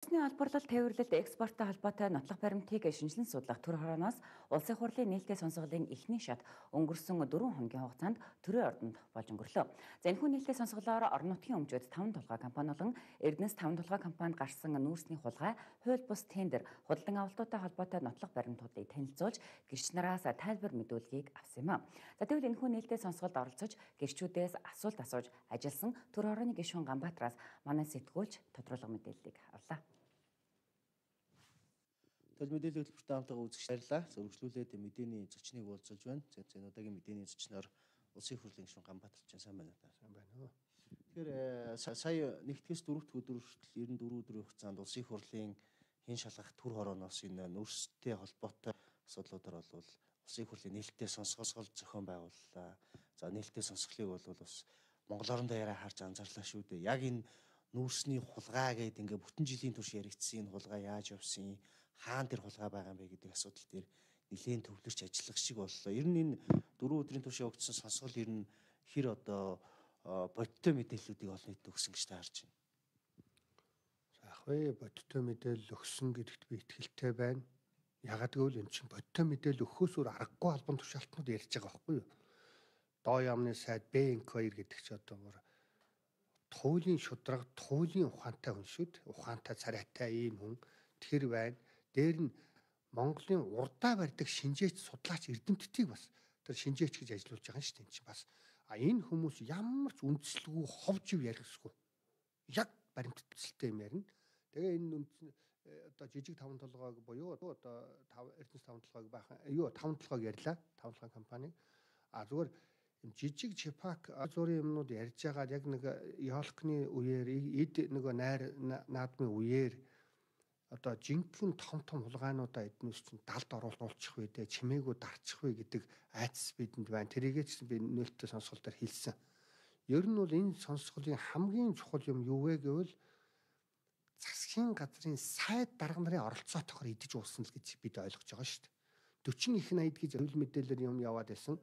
Улсны олборлол тээвэрлэлт экспорттой холбоотой нотлох баримтыг шинжилэн судлах төр хорооноос улсын хурлын нээлттэй сонсголын эхний шат өнгөрсөн 4 хоногийн хугацаанд төрийн ордонд болж өнгөрлөө. За энэхүү нээлттэй сонсголоор орон нутгийн өмчөд 5 толгой компани болон Эрдэнэс 5 толгой компанид гарсан нүүрсний хулгай, хууль бус тендер, худалдан авалтуудтай холбоотой нотлох баримтуудыг танилцуулж гэрч нараас тайлбар мэдүүлгийг авсан юм а. За тэгвэл энэхүү нээлттэй сонсголд оролцож гэрчүүдээс асуулт асууж ажилласан төр хорооны гишүүн Ганбаатараас манай сэтгүүлч тодруулга мэдээллийг авлаа. Төл мэдээлэл хөтөлбөртэй хамтдаа үзэгч баярлалаа. Зөвлөлүүлээд мэдээний зочныг уулзалж байна. Энэ удаагийн мэдээний зочноор Улсын хурлын гишүүн Ганбаатар сайн байна уу? Сайн байна уу. Тэгэхээр сая 1-ээс 4-р өдөр хүртэл 94 өдрийн хугацаанд Улсын хурлын хэн шалгах төр хорооноос энэ нүүрстэй холбоотой асуудлуудаар бол Улсын хурлын нээлттэй сонсгол зохион байгууллаа. За нээлттэй сонсголыг бол бас Монгол орон даяараа харж анзаарлаа шүү дээ. Яг энэ нүүрсний хулгай гэдэг ингээ бүтэн жилийн турш яригдсан энэ хулгай яаж явсан, хаана тэр хулгай байгаа юм бэ гэдэг асуудал дээр нэлээд төвлөрч ажиллах шиг боллоо. Ер нь энэ 4 өдрийн турш явагдсан сонсгол ер нь хэр одоо бодиттой мэдээллүүдийг олон нийтэд өгсөн гэж таарч байна. Заах вэ, бодиттой мэдээлэл өгсөн гэдэгт би итгэлтэй байна. Ягаад гэвэл эн чинь бодиттой мэдээлэл өгөхөөс өөр аргагүй албан тушаалтнууд ярьж байгаа байхгүй юу? Доо яамны сайд БНК2 гэдэг чи одоо туулийн шудраг, туулийн ухаантай хүн шүүд. Ухаантай царайтай ийм хүн тэр байна. Дээр нь Монголын урдаа барьдаг шинжээч судлаач эрдэмтдийг бас тэр шинжээч гэж ажиллуулж байгаа юм шүү дээ. Энд чинь бас энэ хүмүүс ямар ч үндслэгүй ховж ярихсгүй. Яг баримтцэлтэй юм ярина. Тэгээ энэ одоо жижиг 5 толгойг буюу одоо Эрдэнэс 5 толгойг баахан 5 толгойг ярьлаа. 5 толгойн компани. Зүгээр жижиг чипак зургийн юмнууд ярьж байгаа яг нэг Ёлкны үеэр эд нөгөө найр наадмын үеэр одоо жинхэнэ том хулгайнуудаа эднээс чинь далд оруулчих вэ дээ чимээгүү дарчих вэ гэдэг айцс бидэнд байна. Тэрийгээ ч би нээлттэй сонсгол дээр хэлсэн. Ер нь бол энэ сонсголын хамгийн чухал юм юу вэ гэвэл засгийн газрын сайд дарга нарын оролцоотойгоор идэж уусан л гэж бид ойлгож байгаа шүү дээ. 40 их 80 гэж зөвлөл мэдээлэлээр юм яваад байсан.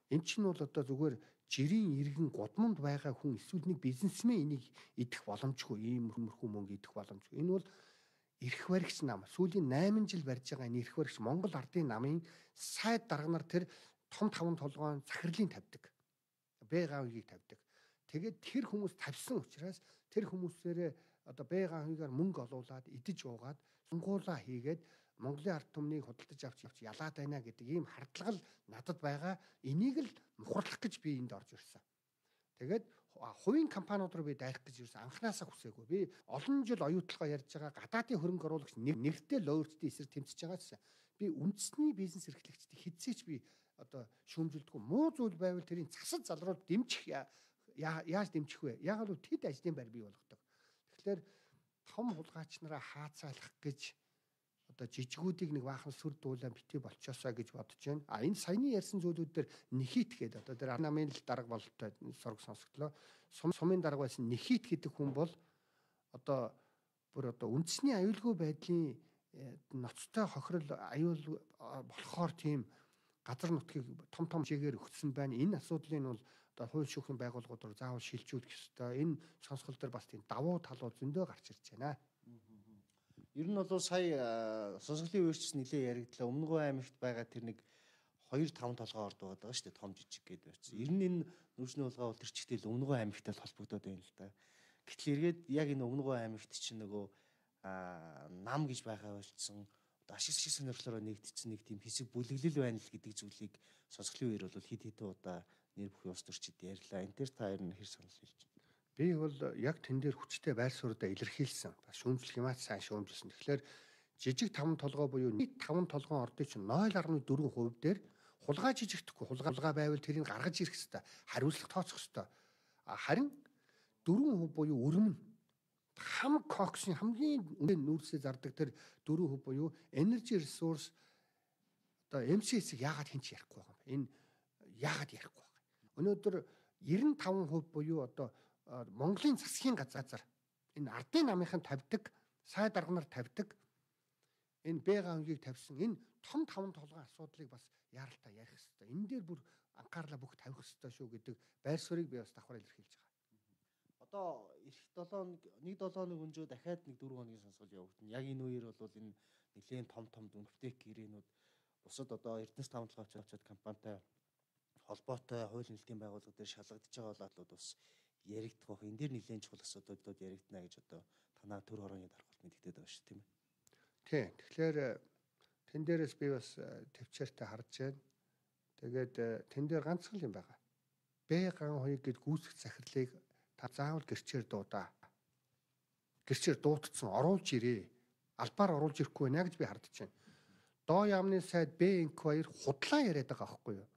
Эн чинь бол одоо зүгээр жирийн иргэн гудамд байгаа хүн эсвэл нэг бизнесмен энийг идэх боломжгүй ийм хөрмөрхүү мөнгө идэх боломжгүй. Энэ бол эрх баригч нам. Сүүлийн 8 жил барьж байгаа энэ эрх баригч Монгол ардын намын сайд дарга нар тэр том 5 толгойн захирлын тавьдаг. Б-гаавыг тавьдаг. Тэгээд тэр хүмүүс тавьсан учраас тэр хүмүүсээрээ одоо Б-гаавыгаар мөнгө олуулад идэж уугаад сунгуулаа хийгээд Монголын ард түмнийг худалдаж авч ялаад байна гэдэг ийм хардлага надад байгаа. Энийг л мухарлах гэж би энд орж ирсэн. Тэгээд хувийн компаниуд руу би дайрах гэж ирсэн. Анханасаа хүсээгүй. Би олон жил оюутлогоо ярьж байгаа гадаадын хөрөнгө оруулагч нэртэй лоурчдын эсрэг тэмцэж байгаа. Би үндэсний бизнес эрхлэгчдийг хэзээ ч би одоо шүүмжилдэггүй. Муу зүйл байвал тэрийн засал залруулалт дэмжих яаж дэмжих вэ? Яг л тэд ажлын байр бий болгодог. Тэгэхээр том хулгайч нараа хаацаалах гэж одоо жижигүүдийг нэг баахан сүр дуулаа битгий болчоосаа гэж бодож байна. Энэ саяны ярьсан зүйлүүд дээр нэхит гэдэг одоо тэр намын л дарга бололтой сураг сонсогдлоо. Сумын дарга байсан нэхит гэдэг хүн бол одоо бүр одоо үндэсний аюулгүй байдлын ноцтой хохирол аюул болохоор тийм газар нутгийг том жигээр өгсөн байна. Энэ асуудлыг бол одоо хууль шүүхийн байгууллагууд руу заавал шилжүүлэх ёстой. Энэ сонсгол дээр бас тийм давуу талууд зөндөө гарч ирж байна. Ер нь бол сая сонсголын үеэрч нэлээ яригдлаа. Өмнөгөө аймагт байгаа тэр нэг 2-5 толгой орд байгаа шүү дээ. Том жижиг гэдэг байсан. Ер нь энэ нүүрсний хулгай бол тэр чигтэл өмнөгөө аймагтай л холбогдоод байна л да. Гэтэл эргээд яг энэ өмнөгөө аймагт чинь нөгөө нам гэж байгаа болцсон ашиг сонирхлоор нэгдсэн нэг тийм хэсэг бүлэглэл байна л гэдэг зүйлийг сонсголын үеэр бол хэд хэдэн удаа нэр бүхий улс төрчид ярьлаа. Энэ тэр та хоёр нь хэр санал хэлж байна? Би бол яг тэн дээр хүчтэй байр суурьдаа илэрхийлсэн. Бас шүүмжлэх юмаа сайн шүүмжилсэн. Тэгэхээр жижиг 5 толгой буюу нийт 5 толгойн ордын чинь 0.4% дээр хулгай жижигдэхгүй. Хулгай байвал тэрийг гаргаж ирэх хэрэгтэй. Хариуцлага тооцох хэрэгтэй. Харин 4% буюу өрмөн хам коксын хамгийн үнэтэй нүүрсээ зардаг тэр 4% буюу energy resource одоо MCS-ийг яагаад хинч ярихгүй байгаа юм бэ? Энэ яагаад ярихгүй байгаа юм? Өнөөдөр 95% буюу одоо Монголын засгийн газар энэ ардын намынхан тавьдаг, сайд дарга нар тавьдаг энэ Б-гаавыг тавьсан энэ том 5 толгойн асуудлыг бас яаралтай ярих хэрэгтэй. Энэ дээр бүр анхаарлаа бүх тавих хэрэгтэй шүү гэдэг байр суурийг би бас давхар илэрхийлж байгаа. одоо эх 1 7 өнжөө дахиад 4 хоногийн сонсгол явагдана. Яг энэ үеэр бол энэ нэлээд том дүнхтэй гэрээнүүд бусад одоо Эрдэнэс таамаглал авчид компанитай холбоотой хууль нэлтийн байгууллага дээр шалгагдж байгаа болоод бас яригдах байх. Энэ дээр нэлээд чухал асуудлууд яригдана гэж одоо танаа төр хорооны даргалт мэдэгдээд байгаа шүү, тийм ээ. Тийм. Тэгэхээр тэн дээрээс би бас төвчээртэй харж байна. Тэгээд тэн дээр ганцхан юм байгаа. Б-ган хоёрыг гээд гүйцэх захирлыг та заавал гэрчээр дуудаа. Гэрчээр дуудсан оруулж ирээ. Албаар оруулж ирэхгүй байна гэж би хардж байна. Доо яамны сайд Б-2 худлаа яриад байгаа байхгүй юу?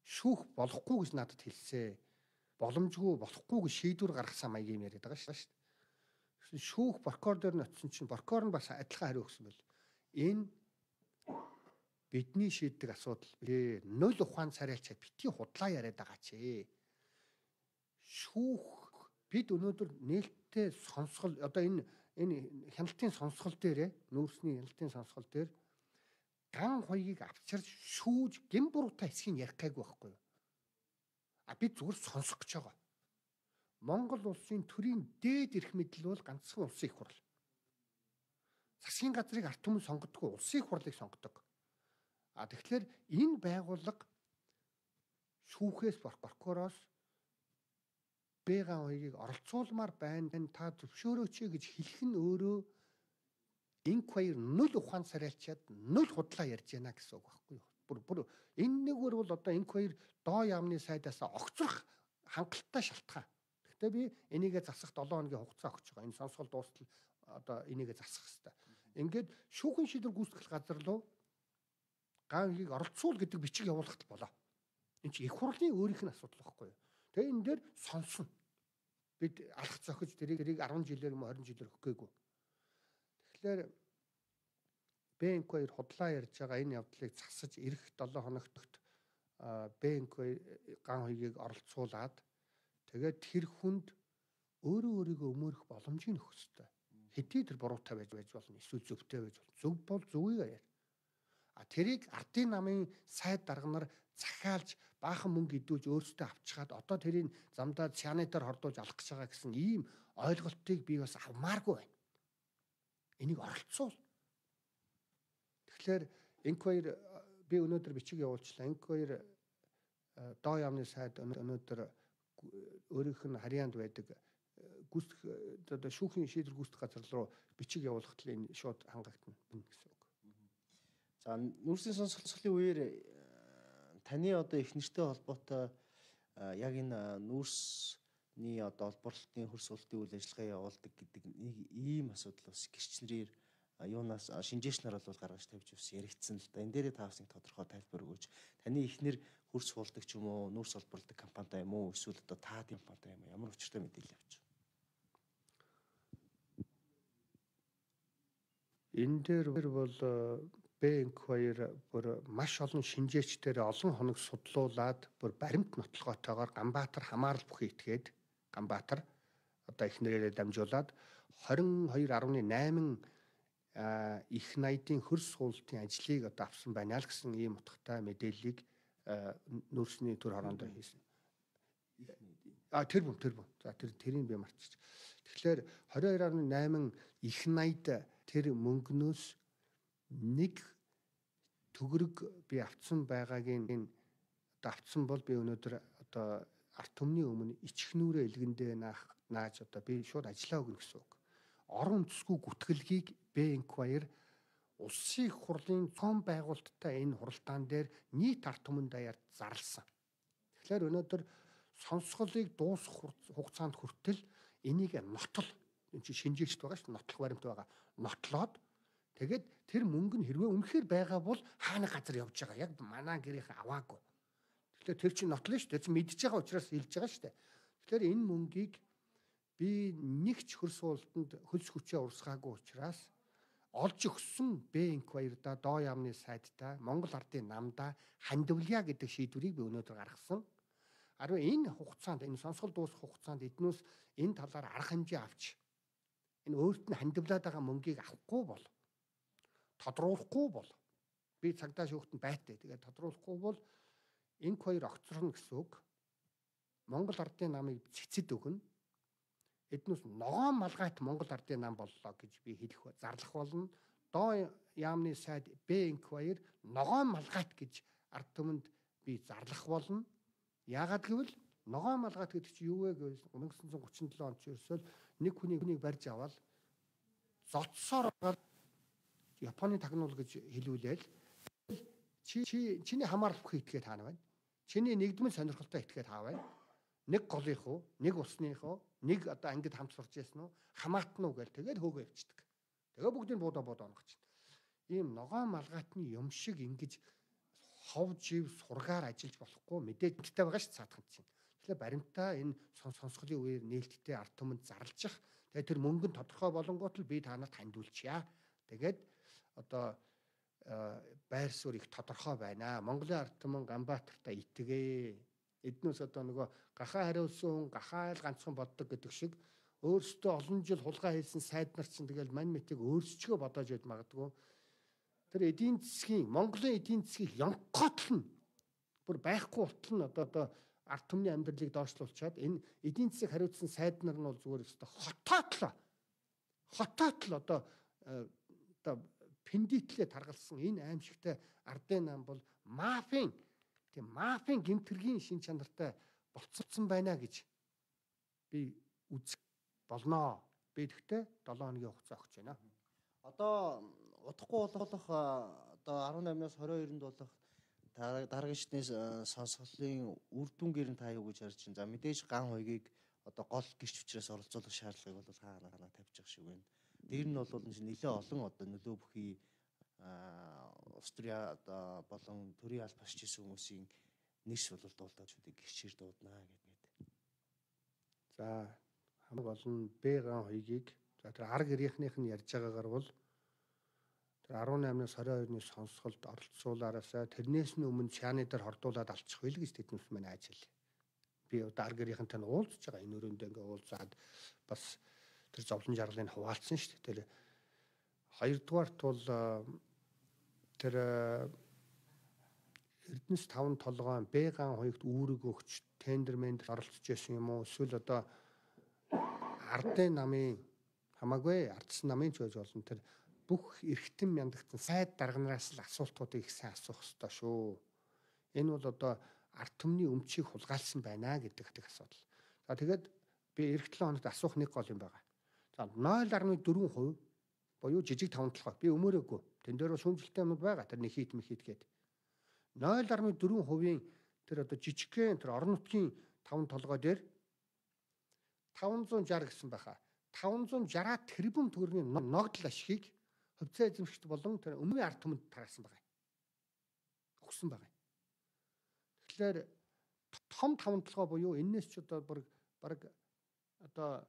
Шүүх болохгүй гэж надад хэлсэн. Боломжгүй болохгүй гэж шийдвэр гаргасан маяг юм яриад байгаа шүү дээ. Шүүх прокурор дээр ноцсон чинь прокурор нь бас адилхан хариу өгсөн байл. Энэ бидний шийддэг асуудал. Нуль ухаан царайлчаад битгий худлаа яриад байгаа чи. Шүүх бид өнөөдөр нээлттэй сонсгол одоо энэ хяналтын сонсгол дээр нүүрсний хяналтын сонсгол дээр ган хоёгийг авчирч шүүж гин буруутай хэсгийг ярих гайгүй байхгүй юу? Бид зүгээр сонсох гэж байгаа. Монгол улсын төрийн дээд эрх мэдэл бол ганцхан улсын их хурл. Засгийн газрыг ард түмэн сонгодгүй улсын их хурлыг сонгодог. Тэгэхээр энэ байгууллага шүүхээс прокуророос Б-ган хоёрыг оролцуулмаар байна. Та зөвшөөрөөч гэж хэлэх нь өөрөө инквайр нуль ухаан царайлчаад нуль худлаа ярьж байна гэсэн үг байхгүй юу? Бүр энэ нэгвэр бол одоо инквайр доо яамны сайдаас огцрох хангалттай шалтгаан. Гэхдээ би энийгээ засах 7 хоногийн хугацаа өгч байгаа. Энэ сонсгол дуустал одоо энийгээ засах хэрэгтэй. Ингээд шүүхэн шийдвэр гүйцэтгэх газар руу гангийг оролцуул гэдэг бичиг явуулахт болоо. Энэ чинь их хурлын өөрийнх нь асуудал байхгүй юу? Тэгээ энэ дээр сонсно. Бид алах зохиж тэрийг 10 жилээр юм 20 жилээр өгөх гээгүй. Тэгэхээр Б-2 худлаа ярьж байгаа энэ явдлыг засаж ирэх 7 хоногт Б-2 ган хоёгийг оролцуулаад тэгээд тэр хүнд өөрийгөө өмөрөх боломжийг өгөх ёстой. Хэдий тэр буруутай байж болно, эсвэл зөвтэй байж болно. Зөв бол зөвийг яар. Тэрийг ардын намын сайд дарганаар захиалж баахан мөнгө идүүлж өөрсдөө авчгаад одоо тэрийг замдаа сянитаар хордуулж алах гэж байгаа гэсэн ийм ойлголтыг би бас авмааргүй байна. Энийг оролцуул. Тэгэхээр инквайр би өнөөдөр бичиг явуулчлаа. Инквайр доо яамны сайд өнөөдөр өөрийнх нь харьяанд байдаг гүйцэтгэх одоо шүүхийн шийдвэр гүйцэтгэх газар руу бичиг явуулахад энэ шууд хангагдана гэсэн үг. За нүүрсийн сонсголын үеэр таны одоо их нэртэй холбоотой яг энэ нүүрсний одоо олборлолтын хөрс уралтын үйл ажиллагаа явуулдаг гэдэг нэг ийм асуудал бас гэрчнэрээр юунаас шинжээчнэр бол гаргаж тавьж бас яригдсан л да. Энэ дээрээ та бас нэг тодорхой тайлбар өгөөч. Таны ихнэр хөрс хуулдаг ч юм уу, нүүрс олборлдог компанитай юм уу, эсвэл одоо та компанитай юм уу? Ямар учиртай мэдээлэл авч байна? Энэ дээр бол Б-2 бүр маш олон шинжээчдээр олон хоног судлуулад бүр баримт нотлогоотойгоор Ганбаатар хамаарал бүхий итгээд Ганбаатар одоо ихнэрээрээ дамжуулаад 22.8 их найдын хөрс суултын ажлыг одоо авсан байна л гэсэн ийм утгатай мэдээллийг нүүрсний төр хороонд хийсэн. Тэр бүм. За тэрийг би марччих. Тэгэхээр 22.8 их найд тэр мөнгнөөс нэг төгрөг би авцсан байгаагийн энэ авцсан бол би өнөөдөр одоо арт түмний өмнө ичхнүүрээ илгэндээ нааж одоо би шууд ажиллаа өгнө гэсэн үг. Орон үндэсгүй гүтгэлгийг Б-2 улсын их хурлын цом байгуулалттай энэ хуралдаан дээр нийт арт түмэн даяар зарласан. Тэгэхээр өнөөдөр сонсголыг дуусгах хугацаанд хүртэл энийг нотол энэ чинь шинжээчд байгаа шүү дээ, нотлох баримт байгаа. Нотлоод тэгээд тэр мөнгө нь хэрвээ үнэхээр байгаа бол хаана газар явж байгаа. Яг манай гэрийнхэн аваагүй. Тэгэхээр тэр чинь нотлно шүү дээ. Тэр чинь мэдж байгаа учраас хэлж байгаа шүү дээ. Тэгэхээр энэ мөнгийг би нэг ч хөрс суултанд хөлс хүчээ урсгаагүй учраас олж өгсөн Б-2 да доо яамны сайдтай Монгол ардын намдаа хандивлаа гэдэг шийдвэрийг би өнөөдөр гаргасан. Харин энэ хугацаанд энэ сонсгол дуусах хугацаанд эднээс энэ талаар арга хэмжээ авч энэ өөрт нь хандивлаад байгаа мөнгийг авахгүй бол тодруулахгүй бол би цагдаа шүүхтэн байтай. Тэгээд тодруулахгүй бол инквайр огцорно гэсэн үг. Монгол ардын намыг цэцэд өгнө. эднээс ногоон малгайт Монгол ардын нам боллоо гэж би зарлах болно. Доо яамны сайд Б-инквайр ногоон малгайт гэж ард түмэнд би зарлах болно. Яагаад гэвэл ногоон малгайт гэдэг чинь юу вэ гэвэл 1937 онд ерөөсөө нэг хүнийг барьж аваад зодсоор байгаа Японы тагнуул гэж хэлүүлээл чиний хамааралгүй итгээд хаана байна? Чиний нэгдмэл сонирхолтой итгээд хаа байна? Нэг голынх уу, нэг усных уу, нэг одоо ангид хамт сурч ясан уу, хамаатна уу гэл тэгээд хөөгөө явчихдаг. Тэгээ бүгдийг буудаа онгоч чинь. Ийм ногоон малгайтны юм шиг ингэж хов жив сургаар ажиллаж болохгүй мэдээлэлтэй байгаа ш цаатхан чинь. Тэгэхээр баримтаа энэ сонсголын үеэр нээлттэй ард түмэнд зарлжих. Тэгээд тэр мөнгө нь тодорхой болонгууд л би та нарт хандуулчихъя. Тэгээд одоо байр суурь их тодорхой байна. Монголын ард түмэн Ганбаатартай итгээ. Эднээс одоо нөгөө гахаа хариулсан хүн гахаа л ганцхан боддог гэдэг шиг өөрсдөө олон жил хулгай хийсэн сайд нар чинь тэгэл мань мэтийг өөрсчгөө бодож яд магадгүй. Тэр эдийн засгийн Монголын эдийн засгийг янготл нь бүр байхгүй утал нь одоо ард түмний амьдралыг доошлуулчаад энэ эдийн засгийг хариуцсан сайд нар нь бол зүгээр өстө хотоотлоо одоо пендитлээ таргалсан энэ аимшигтай ардын нам бол мафийн гэмтэргийн шин чанартай болцсон байна гэж би үзэх болноо. Би тэгтээ 7 хоногийн хугацаа өгч байна. Одоо удахгүй болох одоо 18-наас 22-нд болох дараагийн шатны сонсголын үр дүнгээр нь та юу гэж харж байна? За мэдээж ган хуйгийг одоо гол гэрч хүчрээс оролцуулах шаардлагыг бол хаана тавьж байгаа шиг байна. Дээр нь бол нэлээд олон одоо нөлөө бүхий Австрия одоо болон төрийн аль басч хийсэн хүмүүсийн нэрс бол дуулдаачдыг гэрчээр дууднаа гэдэг. За хамаг олон Б-ган хуйгийг за тэр арга гэрийнхнийх нь ярьж байгаагаар бол тэр 18-наас 22-ны сонсголд оролцуулаараасаа тэрнээс нь өмнө чааны дээр хордуулаад алчих байл гэж тэднээс мань ажил. Би одоо арга гэрийнхэнтэй уулзж байгаа энэ өрөөндөө ингээ уулзаад бас тэр зовлон жаргалыг хуваалцсан шүү дээ. Тэр хоёрдугаарт бол тэр Эрдэнэс 5 толгойн Б-ган хуйгт үүрэг өгч тендермент оролцож байсан юм уу? Эсвэл одоо ардын намын хамаагүй ардсан намын ч байж болно. Тэр бүх эрхтэн мяндагцсан сайд дарганараас л асуултуудыг их сайн асуух хэрэгтэй шүү. Энэ бол одоо ард түмний өмчийг хулгайлсан байна гэдэг асуудал. За тэгээд би эх 7 хоногт асуух нэг гол юм байгаа. За 0.4% буюу жижиг 5 толгой. Би өмөрөөгүй. Тэн дээр шүүмжлэлтэй юмуд байгаа. Тэр нэхит гээд 0.4% тэр одоо жижигхэн тэр орон нутгийн 5 толгой дээр 560 гэсэн байхаа. 560 тэрбум төгрөгийн ногдол ашигыг хувьцаа эзэмшигч болон тэр өмнөний ард түмэнд тараасан байгаа. Өгсөн байгаа. Тэгэхээр том 5 толгой буюу энэс ч одоо баг одоо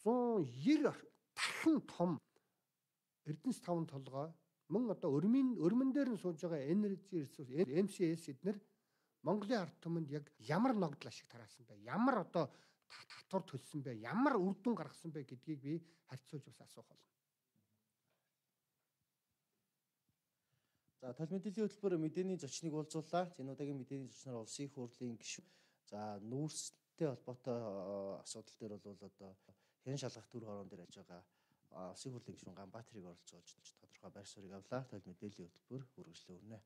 190 дахин том Эрдэнэс 5 толгой мөн одоо өрмөн дээр нь сууж байгаа Energy Resource MCS эднэр Монголын ард түмэнд яг ямар ногдол ашиг тараасан бэ? Ямар одоо татвар төлсөн бэ? Ямар үр дүн гаргасан бэ гэдгийг би харьцуулж бас асуух болно. За тал мэдээллийн хөтөлбөр мэдээний зочныг уулзууллаа. Энэ удаагийн мэдээний зочноор улсын их хурлын гишүүн. За нүүрстэй холбоотой асуудал дээр бол одоо хэн шалгах төр хорон дээр ажиллаж байгаа улсын хурлын гишүүн Ганбаатарыг оролцуулж тодорхой байр суурийг авлаа. Тал мэдээллийн хөтөлбөр үргэлжлэн өрнө.